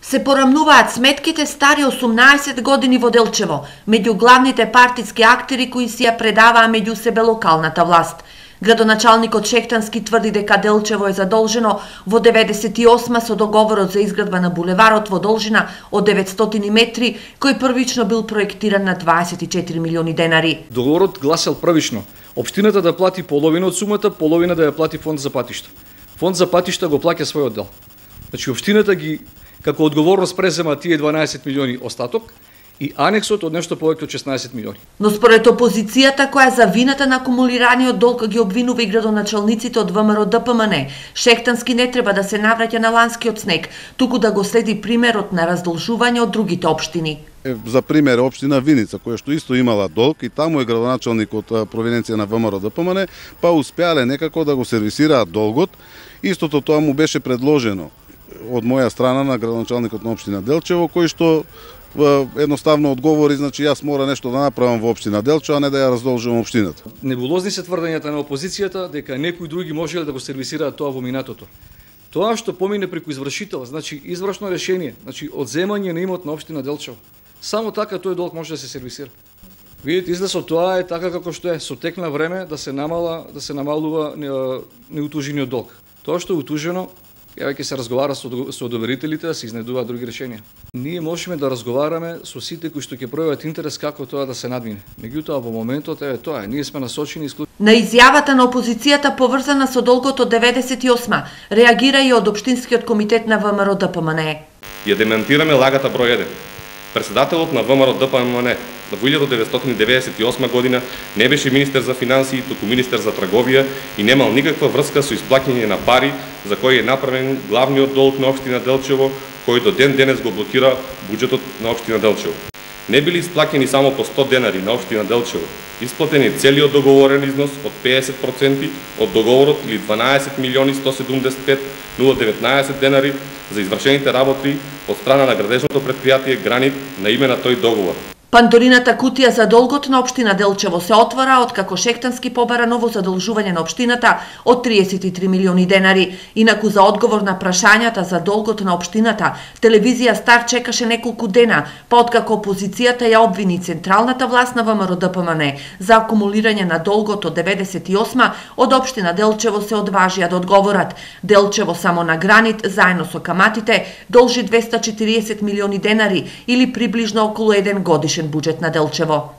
Се порамнуваат сметките стари 18 години во Делчево, меѓу главните партиски актери кои си ја предаваа меѓу себе локалната власт. Градоначалникот Шехтански тврди дека Делчево е задолжено во 98 со договорот за изградба на булеварот во должина од 900 метри, кој првично бил проектиран на 24 милиони денари. Договорот гласел првично општината да плати половина од сумата, половина да ја плати фонд за патишта. Фонд за патишта го плаќа својот дел. Значи општината ги како одговорност презема тие 12 милиони остаток и анексот од нешто повеќе од 16 милиони. Но според опозицијата која за вината на акумулираниот долг ги обвинува и градоначалниците од ВМРО ДПМН, Шехтански не треба да се навраќа на ланскиот снег, туку да го следи примерот на раздолжување од другите општини. За пример општина Виница, која што исто имала долг и таму е градоначалник од провиненција на ВМРО ДПМН, па успеале некако да го сервисираат долгот. Истото тоа му беше предложено од моја страна на градоначалникот на општина Делчево, кој што едноставно одговори, значи јас мора нешто да направам во општина Делчево, а не да ја раздолжувам општината. Небулозни се тврдењата на опозицијата дека некои други можеле да го сервисираат тоа во минатото. Тоа што помине преку извршител, значи извршно решение, значи одземање на имот на општина Делчево. Само така тој долг може да се сервисира. Видите, излезот тоа е така како што е, со тек на време да се намалува неутужениот долг. Тоа што е утужено, ќе се разговара со одобрителите да се изнедуваат други решенија. Ние можеме да разговараме со сите кои што ќе пројават интерес како тоа да се надмине. Меѓутоа во моментот тоа е, ние сме насочени На изјавата на опозицијата поврзана со долгот од 98 реагира и од општинскиот комитет на ВМРО ДПМН. Ја демантираме лагата број 1. Председателот на ВМРО ДПМН во 1998 година не беше министер за финансии, туку министер за трговија и немал никаква врска со исплаќање на пари за кои е направен главниот долг на општина Делчево, кој до ден денес го блокира буџетот на општина Делчево. Не били исплаќани само по 100 денари на општина Делчево, исплатен е целиот договорен износ од 50% од договорот или 12 милиони 175 019 денари за извршените работи од страна на градежното претпријатие Гранит на име на тој договор. Пандорината кутија за долгот на општина Делчево се отвора откако Шехтански побара ново задолжување на општината од 33 милиони денари. Инаку за одговор на прашањата за долгот на општината, телевизија Стар чекаше неколку дена, па откако опозицијата ја обвини централната власт на ВМРО ДПМН за акумулирање на долгот од 98 од општина Делчево се одважија да одговорат. Делчево само на Гранит, заедно со каматите, должи 240 милиони денари или приближно околу 1 годишен буџет на Делчево.